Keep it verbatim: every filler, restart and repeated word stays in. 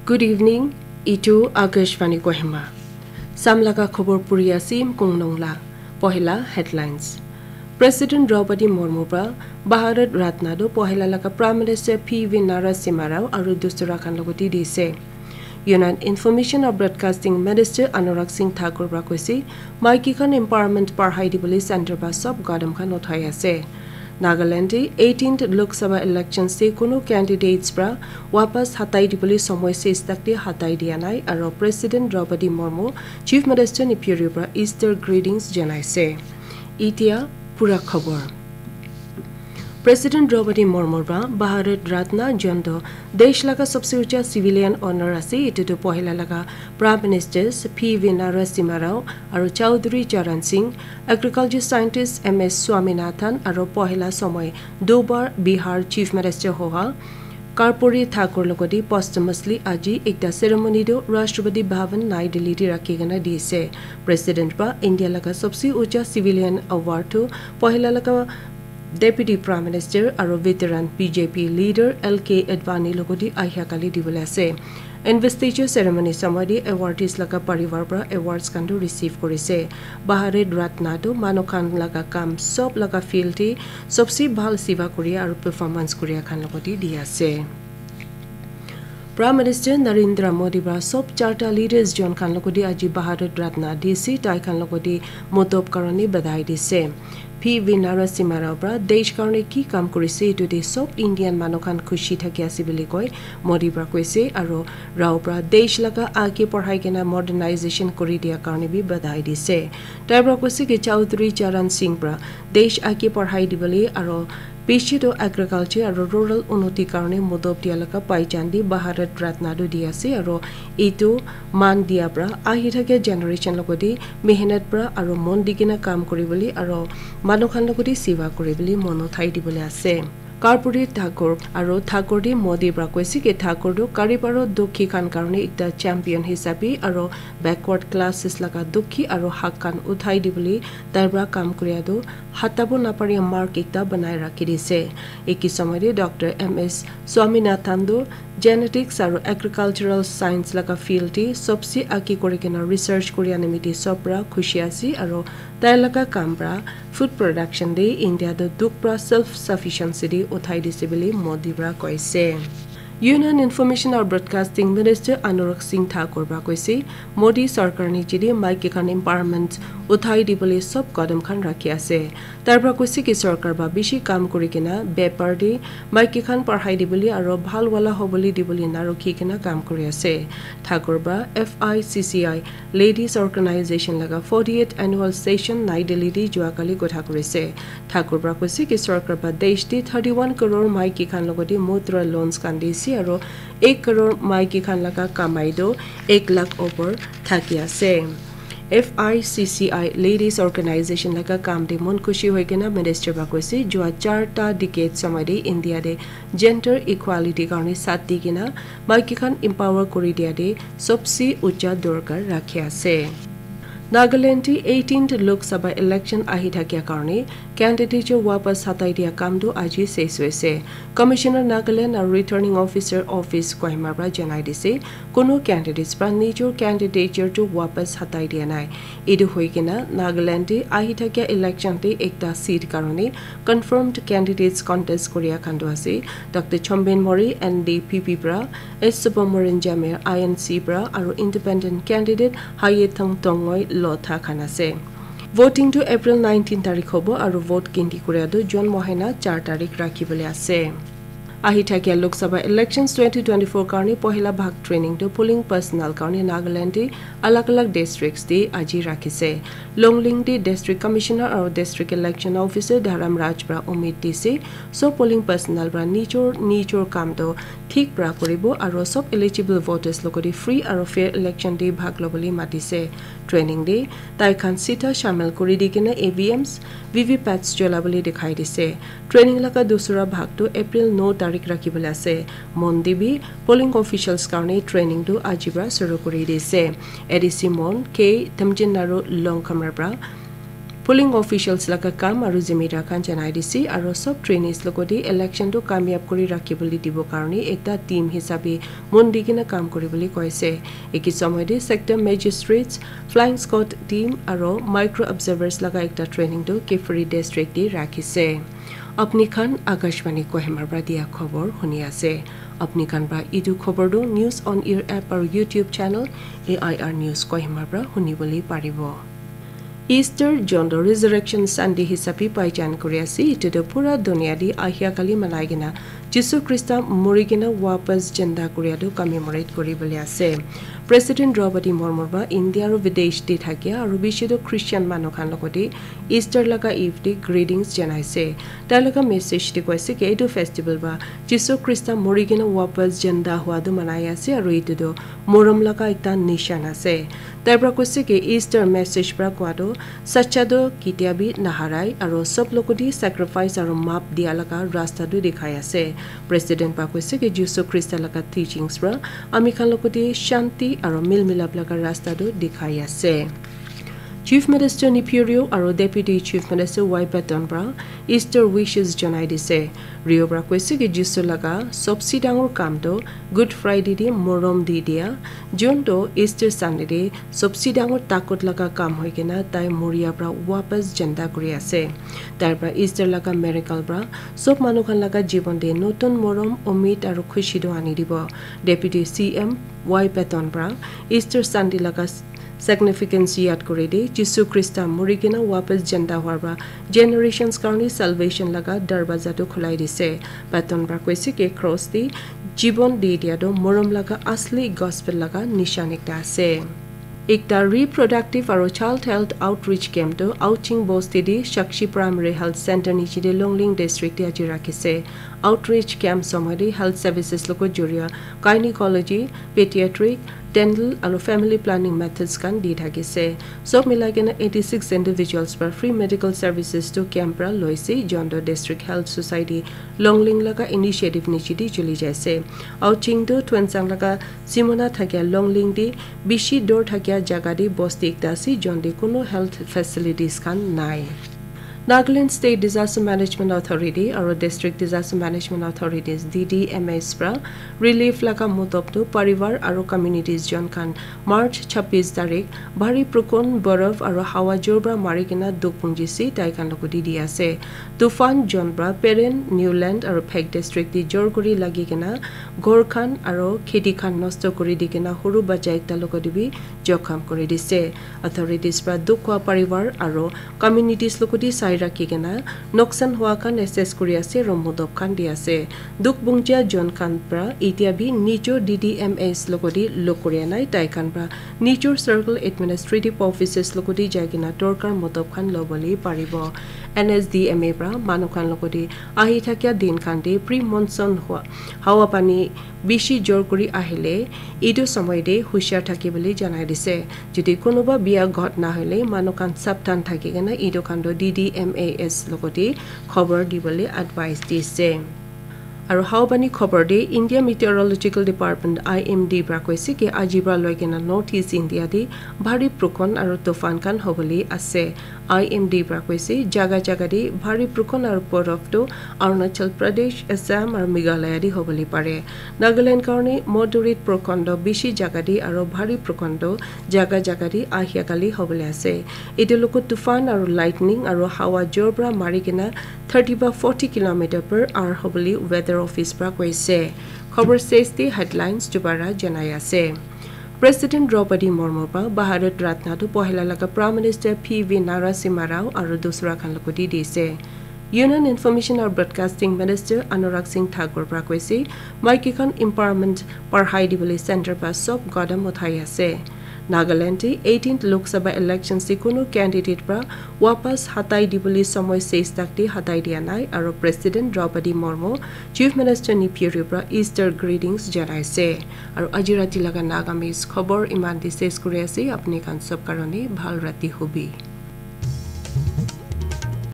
Good evening, itu Akashvani Kohima. Samlaga khobor puri asim kungnong la. Pohila headlines. President Draupadi Murmu pra Bharat Ratna do pohila laga Prime Minister P V Narasimha Rao aru dusra khan logoti dise. Union Information and Broadcasting Minister Anurag Singh Thakur pra koise, maiki khan empowerment parhai dibole center pra sob gadam khan uthai ase. Nagaland te eighteenth Lok Sabha elections te kuno candidates pra wapas hatai dibole somoi ses tak te hatai dia nai aru President Draupadi Murmu Chief Minister Neiphiu Rio pra Easter greetings janaise. Itia pura khobor. President Draupadi Murmu pra Bharat Ratna jon do desh laga sabse ucha civilian honor ase, itu tu pohila laga Prime Ministers P V Narasimha Rao aru Chaudhary Charan Singh, agriculture scientist M S Swaminathan aru pohila somoi dubar Bihar Chief Minister hoha Karpuri Thakur logoti posthumously aji ekta ceremony do Rashtrapati Bhavan Nai Delhi te rakhi kena dise. President pra India laga sabse ucha civilian award tu pohila laga Deputy Prime Minister aru veteran B J P leader L K Advani logoti ahia kali dibole ase. Investiture ceremony somoi te awardees laga parivar pra awards khan tu receive korise. Bharat Ratna tu manu khan laga kam sob laga field te sobse bhal siva kuria aru performance kuria khan logoti di ase. Prime Minister Narendra Modi pra sob charta leaders jon khan logoti aji Bharat Ratna dise, tai khan logoti motob karone badai dise. P V Narasimha Rao pra desh karone ki kam kurise itu te sob Indian manu khan khushi thaki ase bili koi Modi pra koise aru Rao pra desh laga age parhai kena modernization kuri dia karone bi badai dise. Tai pra koise ki Chaudhary Charan Singh pra desh age parhai dibole aru bishi to agriculture aru rural unnoti karone modob dia laga paijan di Bharat Ratna tu di ase aru itu man dia pra ahi thaka generation logoti mehnat pra aru mon di kena kam kuri bole aru manu khan logoti siva kuri bole mon uthai dibole ase. Karpuri Thakur aru Thakur di Modi pra koise ki Thakur tu Garib aru Dukhi khan karone ekta champion hisabe aru backward classes laga Dukhi aru hak khan uthai dibole tai pra kam kuria tu hatabo naparia mark ekta banai rakhi dise. Eki somoi te Doctor M S Swaminathan tu genetics aru agricultural science laga field te sobse age kuri kena research kuria nimite sob pra khushi ase aru tai laga kam pra food production te India tu duk pra self sufficiency te uthai dise bili Modi pra koise. Union Information aru Broadcasting Minister Anurag Singh Thakur pra koise, Modi sarkar niche te maiki khan empowerment uthai dibole sob kadam khan rakhi ase. Tai pra koise ki sarkar pra bishi kam kuri kena bepar te maiki khan parhai dibole aru bhal wala hobole dibole na rukhi kena kam kuri ase. Thakur pra F I C C I Ladies Organization laga forty-eighth annual session Nai Delhi te jua kali kotha kurise. Thakur pra koise ki sarkar pra desh te thirty-one crore maiki khan logoti mudra loans khan dise aru ek crore maiki khan laga kamai do ek lakh over thaki ase. F I C C I Ladies Organization laga kam te mon khushi hoi kena minister pra koise jua charta decade somoi te India te gender equality karone sat di kena maiki khan empower kuri dia te sobse ucha dorkar rakhi ase. Nagaland te eighteenth Lok Sabha election ahi thakia karone candidature wapas hatai dia kam tu aji ses hoise. Commissioner Nagaland aru Returning Officer Office Kohima pra janai dise, kuno candidates pra nijor candidature tu wapas hatai dia nai. Etu hoi kena Nagaland te ahi thakia election te ekta seat karone confirmed candidates contest kuria khan tu ase, Doctor Chomben Mori N D P P pra, S Subramorian Jamir I N C pra aru independent candidate Hayethang Tongoi Lotha khan ase. Voting tu April nineteen tarik hobo aru vote ginti kuria tu June mohina char tarik rakhi bole ase. Ahi thakia Lok Sabha elections twenty twenty-four karone pohila bhag training tu polling personnel karone Nagaland te alag alag districts te aji rakhise. Longling te District Commissioner aru District Election Officer Dharam Raj pra umid dise, sob polling personnel pra nijor nijor kam tu thik pra kuribo aru sob eligible voters logoti free aru fair election te bhag lobole matise. Training te tai khan sita shamil kuri di kena E V Ms, V V pats chola bole dikhai dise. Training laga dusra bhag tu April no tarik rakhi bole ase. Mon dibi polling officials karone training tu aji pra shuru kuri dise. A D C Mon K Temjin aru Longkhamar pra Polling officials laga kam aru zimedar khan janai dise aru sob trainees logoti election tu kamyab kuri rakhi bole dibo karone ekta team hisabe mon di kena kam kuri bole koise. Eki somoy te sector magistrates, flying squad team aru micro observers laga ekta training tu Kiphire district te rakhise. Apni khan Akashvani Kohima pra dia khobor huni ase. Apni khan pra itu khobor tu News on Air app aru YouTube channel A I R News Kohima pra huni bole paribo. Easter John do Resurrection Sunday hisabe paijan kuri ase. Itu tu pura dunia di ahia kali manai kena Jisu Krista mori kena wapas janda kuria tu commemorate kuri bole ase. President Draupadi Murmu pra India aru videsh te thakia aru bishi tu Christian manu khan logoti Easter laga eve te greetings janaise. Tai laga message te koise ki etu festival pra Jisu Krista mori kena wapas janda hua tu manai ase aru etu tu morom laga ekta nishan ase. Tai pra koise ki Easter message pra koa tu sacha tu ketia bi naharai aru sob logoti sacrifice aru map dia laga rasta tu dikhai ase. President pra koise ki Jisu Krista laga teachings pra ami khan logoti shanti aru mil milap laga rasta tu dikhai ase. Chief Minister Neiphiu Rio aru Deputy Chief Minister Y Patton pra Easter wishes janai dise. Rio pra koise ki Jisu laga sobse dangor kam tu Good Friday te morom di dia, jun tu Easter Sunday te sobse dangor takot laga kam hoi kena tai moria pra wapas janda kuri ase. Tai pra Easter laga miracle pra sob manu khan laga jibon te notun morom, umid aru khushi tu ani dibo. Deputy C M Y Patton pra Easter Sunday laga significance yad kuri di, Jisu Krista mori kena wapas janda hua pra generations karone salvation laga darwaza tu khulai dise. Patton pra koise ki cross di jibon di dia tu morom laga asli gospel laga nishan ekta ase. Ekta reproductive aru child health outreach camp tu Aoching Bosti di Shakshi Primary Health Center niche te Longleng District te aji rakhise. Outreach camp somoy te health services logot joria gynecology, pediatric, dental aru family planning methods khan di thakise. Sob milai kena eighty six individuals pra free medical services tu camp pra loise, John do District Health Society Longleng laga initiative niche te chuli jaise. Aoching tu Tuensang laga simona thakia Longleng te bishi dur thakia jaga te bosti ekta ase, jon te kunu health facilities khan nai. Nagaland State Disaster Management Authority aru District Disaster Management Authorities, D D M As pra relief laga mutop tu parivar aru communities jon khan March chabbish tarik bhari prukon, borof aru hawa jor pra mari kena dukh punjise, tai khan logoti di ase. Tufan jon pra Peren, Newland aru Phek District te jor kuri lagi kena ghor khan aru kheti khan nosto kuri di kena huru bacha ekta logoti bi jokham kuri dise. Authorities pra dukh hua parivar aru communities logoti sai rakhi kena noksan hua khan assess kuri ase aru mutop khan di ase. Dukh punja jon khan pra etia bi nijor D D M As logoti log kuria nai, tai khan pra nijor circle administrative offices logoti jai kena dorkar mutop khan lobole paribo. N S D M A pra manu khan logoti ahi thakia din khan te pre monsoon hua hawa pani bishi jor kuri ahile etu somoy te hushar thaki bole janai dise. Jodi kunuba bia ghotna hoile manu khan sabdhan thaki kena etu khan tu D D M A S logoti khobor dibole advice dise. Aru hawa pani khobor te India Meteorological Department, I M D pra koise ki aji pra loi kena North East India te bhari prukon aru tufan khan hobole ase. I M D pra koise jaga jaga te bhari prukon aru borof tu Arunachal Pradesh, Assam aru Meghalaya te hobole pare. Nagaland karone moderate prukon tu bishi jaga te aru bhari prukon tu jaga jaga te ahia kali hobole ase. Etu logot tufan aru lightning aru hawa jor pra mari kena thirty ba forty kilometer per hour hobole weather office pra koise. Khobor ses te headlines dubara janai ase. President Draupadi Murmu pra Bharat Ratna tu pohila laga Prime Minister P V Narasimha Rao aru dusra khan logoti dise. Union Information aru Broadcasting Minister Anurag Singh Thakur pra koise, maiki khan empowerment parhai dibole center pra sob gadam uthai ase. Nagaland te eighteenth Lok Sabha election se kunu candidate pra wapas hatai dibole somoy ses tak te hatai dia nai aru President Draupadi Murmu, Chief Minister Neiphiu Rio pra Easter greetings janai ase. Aru aji rati laga Nagamese khobor iman te ses kuri ase. Apni khan sob karone bhal rati hobi.